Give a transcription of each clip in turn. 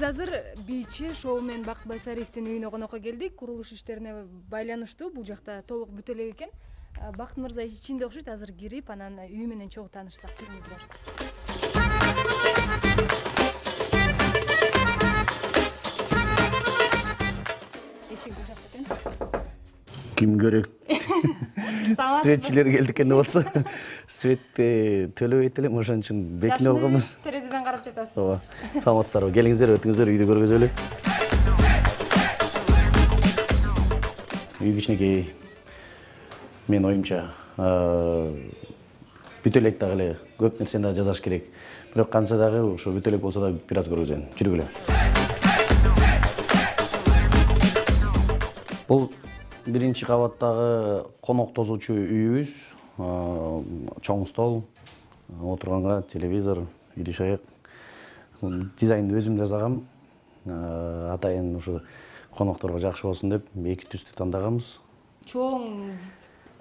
азыр бийчи шоумен Бакыт Байсариевдин үйүнө конокко келдик. Курулуш иштерине байланыштуу. Бул жакта толук бүтө элек экен. Бакыт мырза ичинде окшойт. Азыр кирип, анан үй менен чогуу таанышсак. Келиңиздер. Эшик бул жакта экен. Ким керек? Светчилер келди экен деп атса. Светти төлөбөйт элем, ошон үчүн бекине алганбыз. Терезеден карап жатасыз. Ооба. Саламатсыздарбы? Келиңиздер, өтүңүздөр, үйдү көргөзөлү. Үй кичинекей. Мен оюмча бүтө элек дагы эле көп нерсени да жасаш керек. Бирок канча дагы ошо бүтө элек болсо да бир аз көргөзөйүн. Жүргүлө. Бул биринчи кабаттагы конок тосуучу үйүбүз. Чоң стол, отурганга телевизор, идиш аяк. Дизайнды өзүм жасагам. Атайын ушу конокторго жакшы болсун деп эки түстү тандаганбыз. Чоң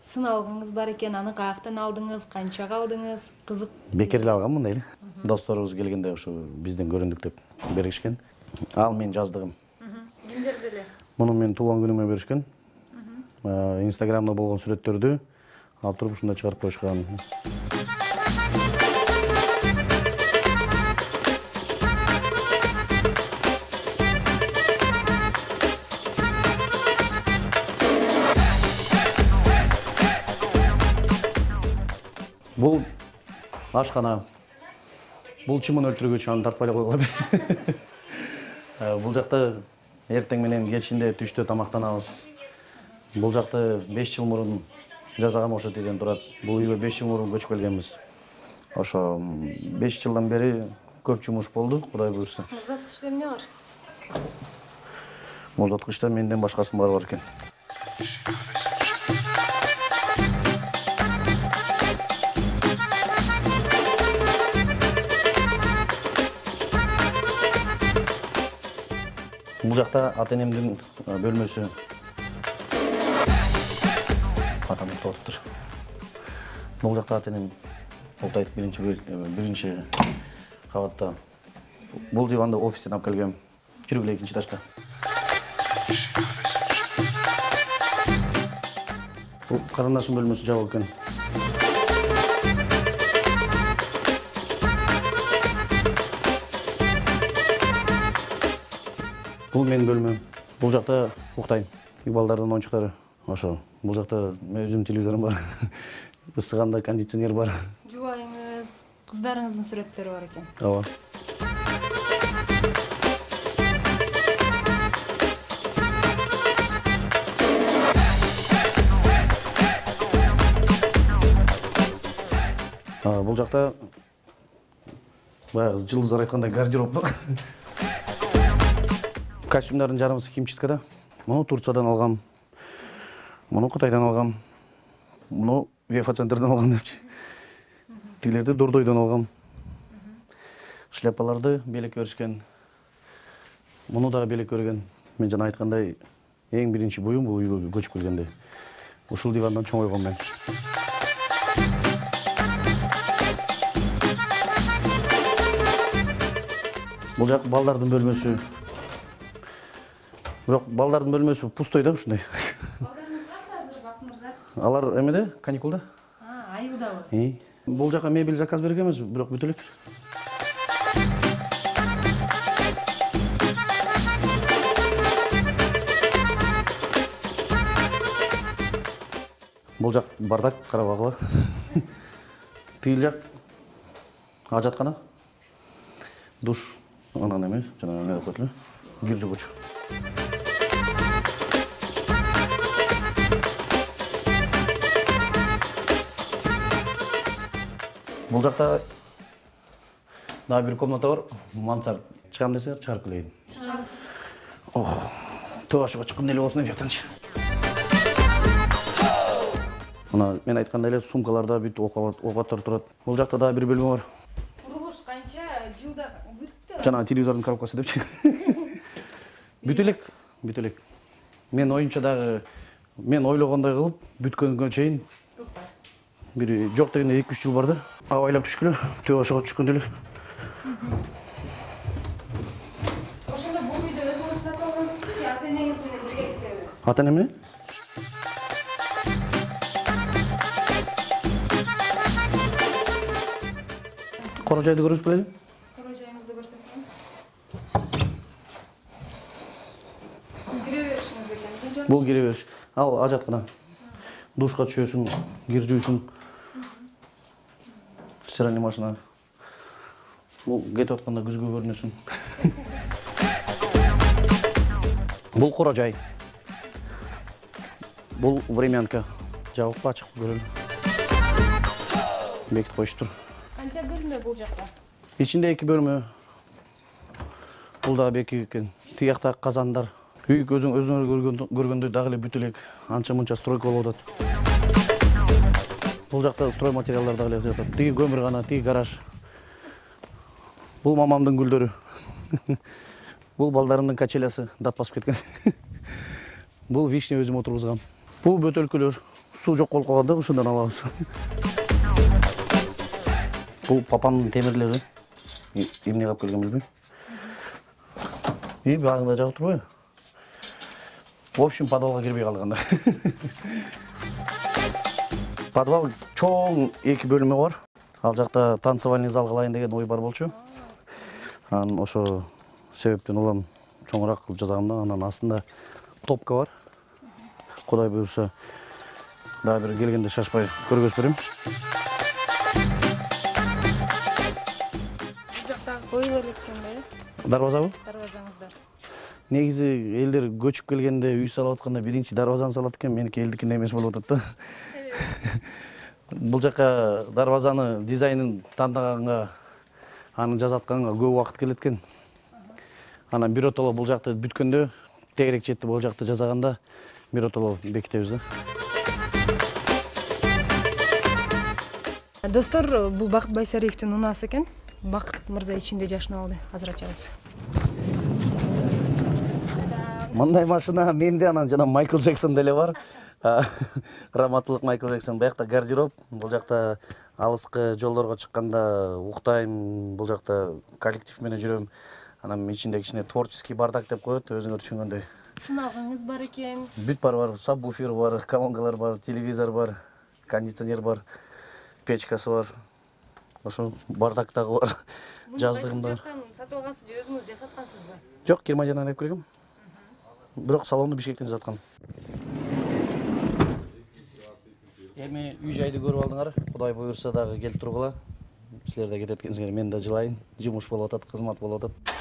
сыналгыңыз бар экен, аны каяктан алдыңыз, канчага алдыңыз? Кызык. Бекер эле алгам мындай эле. Досторубуз келгенде ушу бизден көрүндүк деп беришкен. Ал мен жаздыгым. Кимдерди эле? Муну мен туулган күнүмө беришкен. Инстаграмда болгон сүрөттөрдү алып туруп ушунда чыгарып коюшкан. Бул ашкана. Бул чымын өлтүргүч, аны тартпай эле койгула. Бул жакта эртең менен кечинде түштө тамактанабыз. Бул жакта 5 жыл мурун жасаган окшойт деген турат. Бул үйгө 5 жыл мурун көчүп келгенбиз. Ошо 5 жылдан бери көп жумуш болду, Кудай буйрса. Муздаткычта эмне бар? Муздаткычта менден башкасынын баары бар экен. Бул жакта ата-энемдин бөлмөсү. Атам уктаптыр. Бул жакта ата-энем уктайт биринчи кабатта. Бул диванды офистен алып келгем. Жүргүлө экинчи этажга. Бул карындашым бөлмөсү жабык экен. Бул менин бөлмөм. Бул жакта уктайм. Балдардын оюнчуктары. Ошо. Бул жакта өзүм телевизорум бар. Ысыганда кондиционер бар. Жубайыңыз, кыздарыңыздын сүрөттөрү бар экен. Ооба. Бул жакта баягы жылдыздар айткандай гардероб бар. Костюмдардын жарымысы химчисткада. Муну Турциядан алгам. Муну Кытайдан алгам. Муну Вефа-центрден алгам депчи. Тилерди Дордойдон алгам. Шляпаларды белекке беришкен. Муну дагы белекке берген. Мен жана айткандай, эң биринчи буюм бул үйгө көчүп келгенде. Ушул дивандан чоңойгом мен. Бул жак балдардын бөлмөсү. Бирок балдардын бөлмөсү пустой да ушундай. Балдарыңыз кайда азыр, Бакыт мырза? Алар эмеде, каникулда. Айылдабы? Бул жака мебель заказ бергенбиз, бирок бүтө элек. Бул жак бардак, карабагыла. Тигил жак ажаткана. Душ, анан эме, жана эме деп коет эле. Кир жугуч. Бул жакта дагы бир комната бар, мансард. Чыгам десеңер, чыгарып келейин. Чыгабыз. Тошуга чыккан эле болсун деп жактанчы. Мына мен айткандай эле сумкаларда бүт окаттар турат. Бул жакта дагы бир бөлмө бар. Курулуш канча жылда бүттү? Жана телевизордун коробкасы депчи. Бүтө элек. Мен оюмча дагы мен ойлогондой кылып бүткөнгө чейин бир жок дегенде 2-3 жыл бар да. Абайлап түшкүлө, төбөшөгө түшкөндө эле. Ошо Ата эне менен? Кора жайды көрүп белели? Кора жайыңызды көрсөтүңүз. Кире беришиңиз экен. Бул кире бериш. Ал ажаткана. Душка түшөсүң, кир жуйсуң. Стиральный машина. Бул кетип атканда күзгө көрүнөсүң. Бул кора жай. Бул времянка. Жабык ачык көрөлү. Бекитип коюштур. Канча бөлмө бул жакта? Ичинде 2 бөлмө. Бул да беки экен. Тиякта казандар. Үй өзүңөр көргөндөй дагы эле бүт элек анча-мынча стройка болуп атат. Бул жакта строй материалдар дагы эле жатат. Тиги көмүргана, тиги гараж. Бул мамамдын гүлдөрү. Бул балдарымдын качелясы дат басып кеткен. Бул вишня өзүм отургузгам. Бул бөтөлкөлөр. Суу жок болуп калганда ушундан алабыз. Бул папамдын темирлери. Эмне кылып келген билбейм. Багында жагып турбайбы? В общем, подвалга кирбей калдык анда. Подвал чоң 2 бөлмө бар. Ал жакта танцевальный зал кылайын деген ой бар болчу. Анан ошо себептен улам чоңураак кылып жасаганда, анан астында топка бар. Кудай буйрса, дагы бир келгенде шашпай көргөзүп берем. Бул жакта коюла элеккенде. Дарбазабы? Дарбазаңыздар. Негизи элдер көчүп келгенде үй салып атканда биринчи дарбазаны салат экен, меники элдикине эмес болуп атат да. Бул жака дарбазаны дизайнын тандаганга, аны жасатканга көп убакыт келет экен. Анан биротоло бул жакты бүткөндө, тегерек четти бул жакты жасаганда биротоло бекитебиз да. Достор, бул Бакыт Байсариевдин унаасы экен. Бакыт мырза ичинде жашынып алды. Азыр ачабыз. Мындай машина менде, анан жана Майкл Джексон деле бар. Раматтылык Майкл Джексон. Бул жакта гардероб, бул жакта алыскы жолдорго чыкканда уктайм, бул жакта коллектив менен жүрөм. Анан ичинде кичине творческий бардак деп коет, өзүңөр түшүнгөндөй. Сыналгыңыз бар экен. Бүт бар, сабвуфер бар, колонкалар бар, телевизор бар, кондиционер бар, печкасы бар. Ошо бардак дагы бар. Жаздыгым бар. Сатып алгансыз же өзүңүз жасаткансызбы? Жок, Германиядан алып келгем. Бирок салонду Бишкектен жасаткан. Эми үй жайды көрүп алдыңар. Кудай буйрса дагы келип тургула. Силер да кетет экенсиңер, мен да жылайын. Жумуш болуп атат, кызмат болуп атат.